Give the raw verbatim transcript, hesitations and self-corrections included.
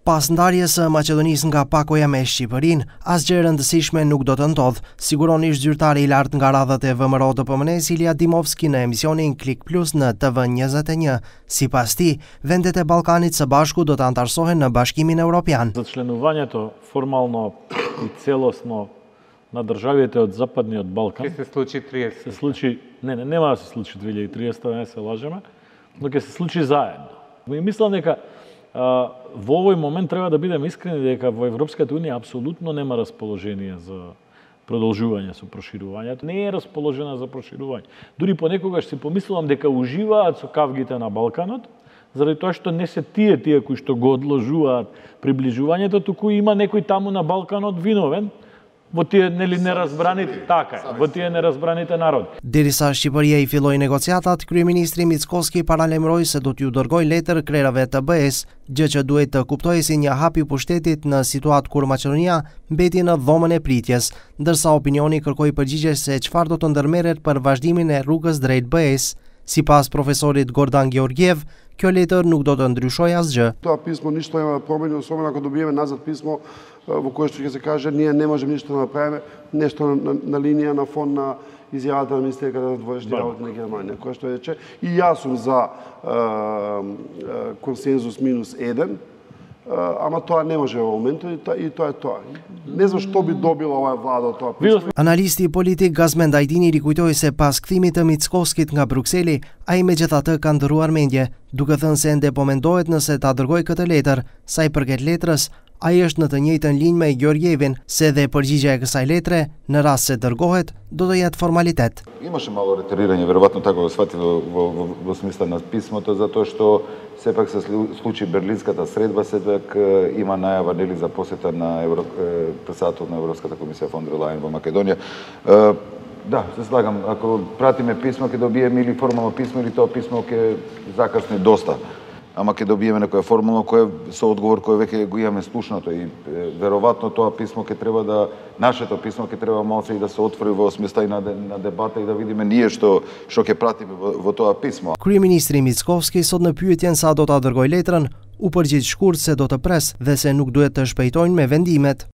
Pas ndarjes së Maqedonisë nga pakoja me Shqipërinë, asgjë e rëndësishme nuk do të ndodhë, siguronisht zyrtari i lartë nga radhët e V M R O T P M N-s Ilija Dimovski në emisionin Klik Plus në T V njëzet e një. Sipas tij, vendet e Ballkanit së Bashku do të antarësohen në Bashkimin Evropian. За членувањето формално и целосно на државите од Западниот Балкан Ќе се случи триесет. Се случи, не, не, нема да се случи две илјади и триесета, не се лажеме, но ќе се случи заедно. И мислам дека а, во овој момент треба да бидеме искрени дека во Европската унија апсолутно нема расположение за продолжување со проширувањето. Не е расположена за проширување. Дури понекогаш си помислувам дека уживаат со кавгите на Балканот, заради тоа што не се тие тие кои што го одложуваат приближувањето, туку има некој таму на Балканот виновен во тие нели неразбраните, така е, во тие неразбраните народи. Derisa Shqipëria i filloi negociatat, kryeministri Mickoski paralajmëroi se do t'ju dërgojë letër krerave të B E-s, gjë që duhet të kuptojë si një hap i pushtetit në situatë kur Maqedonia mbeti në dhomën e pritjes, ndërsa opinioni kërkoi përgjigje se çfarë do të ndërmerret për vazhdimin e rrugës drejt B E-s. Sipas profesorit Gordan Georgiev, kjo letër nuk do të ndryshojë asgjë. Тоа писмо ништо нема да промени, особено ако добиеме назад писмо во кое што ќе се каже ние не можеме ништо да направиме, нешто на, на линија на фон на изјавата на министерката на външни работи на Германија, која што рече и јас сум за е, консензус минус еден, ама тоа не може во моментот и тоа, и тоа е тоа. Не знам што би добила оваа влада од тоа писмо. Analisti politik Gazmend Ajdini rikujtoi se pas kthimit të Mickoskit nga Brukseli, ai megjithatë ka ndërruar mendje, duke thënë se ende po mendohet nëse ta dërgojë këtë letër. Sa i përket letrës, ai është në të njëjtën linjë me Georgievin, se dhe përgjigja e kësaj letre, në rast se dërgohet, do të jetë formalitet. Имаше мало ретерирање, веројатно така го сфати во, во, во, во смисла на писмото, затоа што сепак се случи Берлинската средба, сепак има најава нели за посета на Евро... председател на Европската комисија фон дер Лајен во Македонија. Да, се слагам, ако пратиме писмо ќе добиеме или формално писмо или тоа писмо ќе закасни доста. Ама ќе добиеме некоја формула која со одговор кој веќе го имаме слушнато и веројатно тоа писмо ќе треба да нашето писмо ќе треба малце и да се отвори во смисла и на, на дебата и да видиме ние што што ќе пратиме во, во тоа писмо. Kryeministri Mickoski sot në pyetjen sa do ta dërgojë letrën, u përgjigj shkurt se do të pres dhe se nuk duhet të shpejtojnë me vendimet.